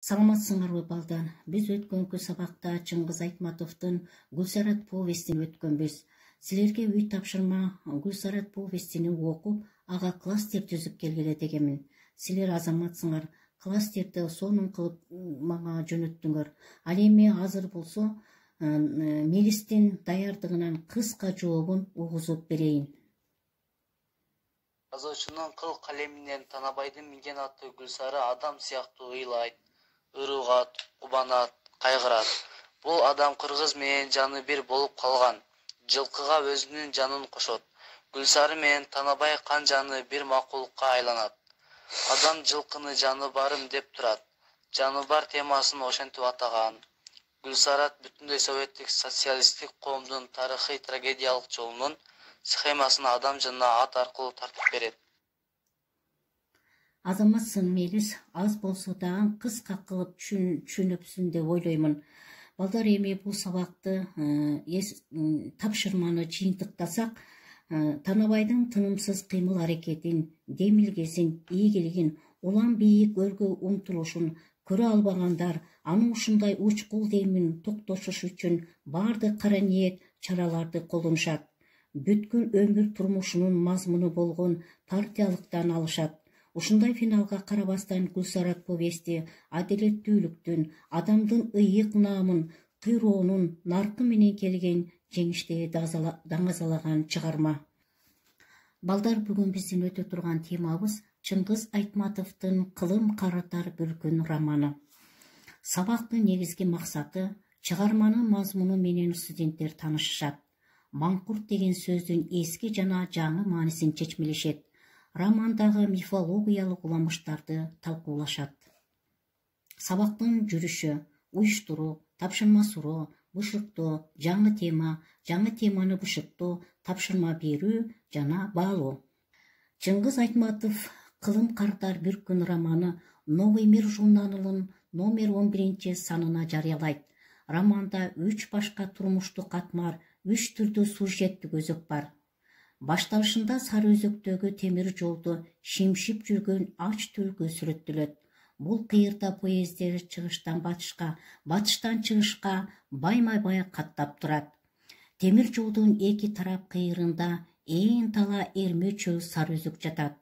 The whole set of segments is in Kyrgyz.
Саламатсыңарбы балдар? Биз өткөнкү сабакта Чыңгыз Айтматовдун Гүлсарат повестин өткөнбүз. Силерге үй тапшырма Гүлсарат повестини окуп, ага класстер түзүп келгиле дегенмин. Силер азаматсыңар, класстерди сонун кылып мага жөнөттүңөр. Ал эми азыр болсо Мелистин даярдыгынан кыска жообун угузуп берейин. Жазуучунун кыл калеминен Танабайдын минген аты Гүлсары адам сыяктуу ыйлайт, ырыгат, кубанат, кайгырат. Бул адам кыргыз менен жаны бир болуп калган. Жылкыга өзүнүн жанын кошот. Гүлсары менен Танабай кан жаны бир макулукка айланат. Адам жылкыны жаны барым деп турат. Жаны бар темасын ошентип атаган. Гүлсарат бүтүндөй советтик социалисттик коомдун тарыхый трагедиялык жолунун схемасын адам жанына ат аркылуу тартып берет. Азаматсың Мелис, аз болсо дагы кыска кылып түшүнөпсүң деп ойлоймун. Балдар, эми бул сабакты тапшырманы жыйынтыктасак, Танабайдын тынымсыз кыймыл аракетин, демилгесин, ийгилигин, улам бийик өргө умтулушун көрө албагандар аны ушундай учкул демин токтотуш үчүн баардык кара ниет чараларды колдонушат. Бүткүл өмүр турмушунун мазмуну болгон партиялыктан алышат. Ушундай финалга карабастан Гүлсарат повести адилеттүүлүктүн, адамдын ыйык наамын, кыйроонун наркы менен келген жеңишти даңазалаган чыгарма. Балдар, бүгүн биздин өтө турган темабыз Чыңгыз Айтматовдун Кылым карытар бир күн романы. Сабактын негизги максаты чыгарманын мазмуну менен студенттер таанышышат. Маңкурт деген сөздүн эски жана жаңы маанисин чечмелешет. Романдагы мифологиялык уламыштарды талкуулашат. Сабактын жүрүшү, уюштуруу, тапшырма суроо, бышыктоо, жаңы теманы бышыктоо, тапшырма берүү жана баалоо. Чыңгыз Айтматов Кылым карытар бир күн романы Новый мир журналынын номер 11 санына жарыялайт. Романда 3 башка турмуштук катмар, 3 түрдүү сюжеттик өзөк бар. Башталышында Сары өзөктөгү темир жолду шимшип жүргөн ач түлкү сүрөттөлөт. Бул кыйырда поезддер чыгыштан батышка, батыштан чыгышка байма-бай каттап турат. Темир жолдун эки тарап кыйырында ээн тала эрме чөл Сары өзөк жатат.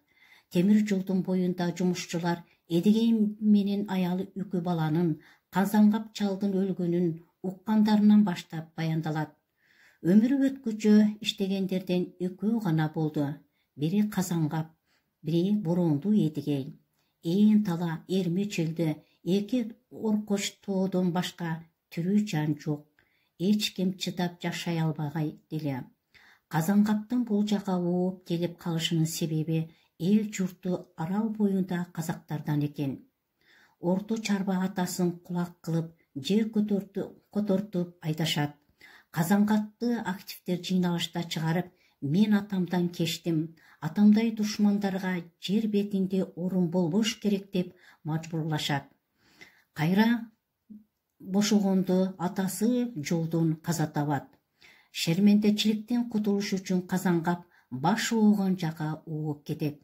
Темир жолдун боюнда жумушчулар эдеген менен аялы үкү баланын, Казангап чалдын өлгөнүн уккандарынан баштап баяндалат. Өмүрү өткүчө иштегендерден экөө гана болду. Бири Казангап, бири Боронду Эдигей. Ээн тала эрме чөлдө эки оркоч тоодон башка тирүү жан жок. Эч ким чыдап жашай албагай деле. Казангаптын бул жака ооп келип калышынын себеби эл журту арал боюнда казактардан экен. Орто чарба атасын кулак кылып, жер котортуп айдашат. Казангапты активдер жыйналышта чыгарып, мен атамдан кечтим, атамдай душмандарга жер бетинде орун болбош керек деп мажбурлашат. Кайра бошогондо атасы жолдон каза табат. Шермендечиликтен кутулуш үчүн Казангап баш оогон жака ооп кетет.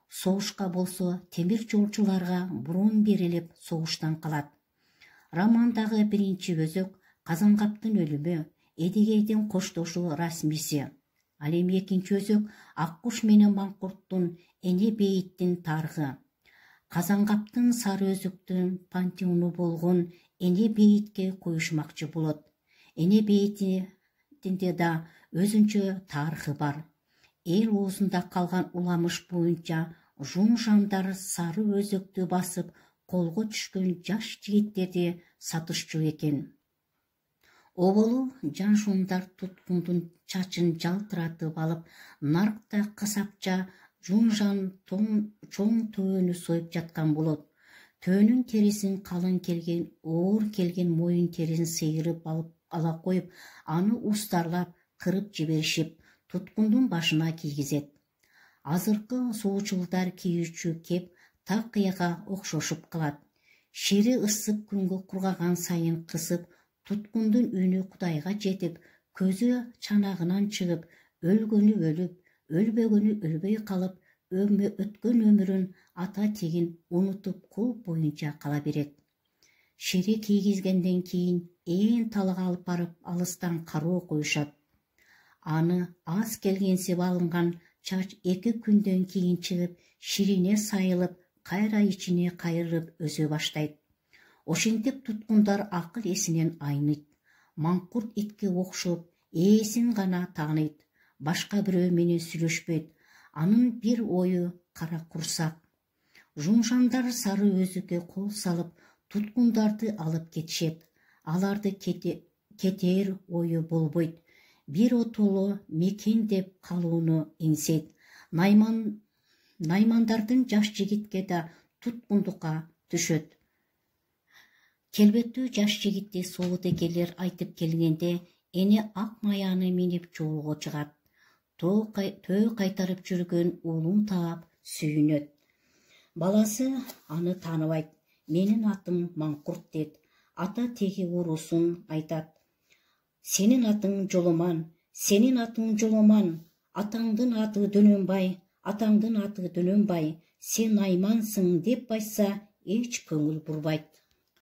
Согушка болсо темир жолчуларга бурун берилип согуштан калат. Романдагы биринчи өзөк Казангаптын өлүмү, Эдигейдин коштошу расмиси. Ал эми экинчи өзөк Аккуш менен Маңкурттун эне бейиттин тарыхы. Казангаптын Сары өзөктүн пантеону болгон эне бейитке коюшмакчы болот. Эне бейитинде да өзүнчө тарыхы бар. Эл оозунда калган уламыш боюнча жун-жандар Сары өзөктү басып, колго түшкөн жаш жигиттерди сатышчу экен. Оболу жан-жундар туткундун чачын жалтыратып алып, наркта касапча жун-жан чоң төөнү союп жаткан болот. Төөнүн терисин калың келген, оор келген моюн терисин сыйырып алып ала коюп, аны устарлап, кырып жиберишип, туткундун башына кийгизет. Азыркы суучулдар кийүүчү кеп такыяга окшошуп калат. Шири ысып күнгө кургаган сайын кысып, туткундун үнү Кудайга жетип, көзү чанагынан чыгып, өлгөнү өлүп, өлбөгөнү өлбөй калып, өткөн өмүрүн ата тегин унутуп кул боюнча кала берет. шере кийгизгенден кийин ээн талга алып барып алыстан кароо коюшат. Аны аз келгенсип алынган чач 2 күндөн кийин чыгып, ширине сайылып, кайра ичине кайрылып өсө баштайт. Ошентип туткундар акыл эсинен айныйт. Маңкурт итке окшоп, ээсин гана тааныйт. Башка бирөө менен сүйлөшпөйт. Анын бир ою кара курсак. Жумшандар сары өзүккө кол салып, туткундарды алып кетишет. Аларды кетээр ою болбойт. Бир отоло мекен деп калууну иңсейт. Наймандардын жаш жигитке да туткундукка түшөт. Келбеттүү жаш жигитти соодагерлер айтып келгенде, эне ак маяны минип жолго чыгат. Төө кайтарып жүргөн уулун таап сүйүнөт. Баласы аны тааныбайт. Менин атым Маңкурт дейт. Ата теги уруусун айтат. Сенин атың Жоломан, сенин атың Жоломан, атаңдын аты Дөнөнбай, атаңдын аты Дөнөнбай, сен Наймансың деп айтса, эч көңүл бурбайт.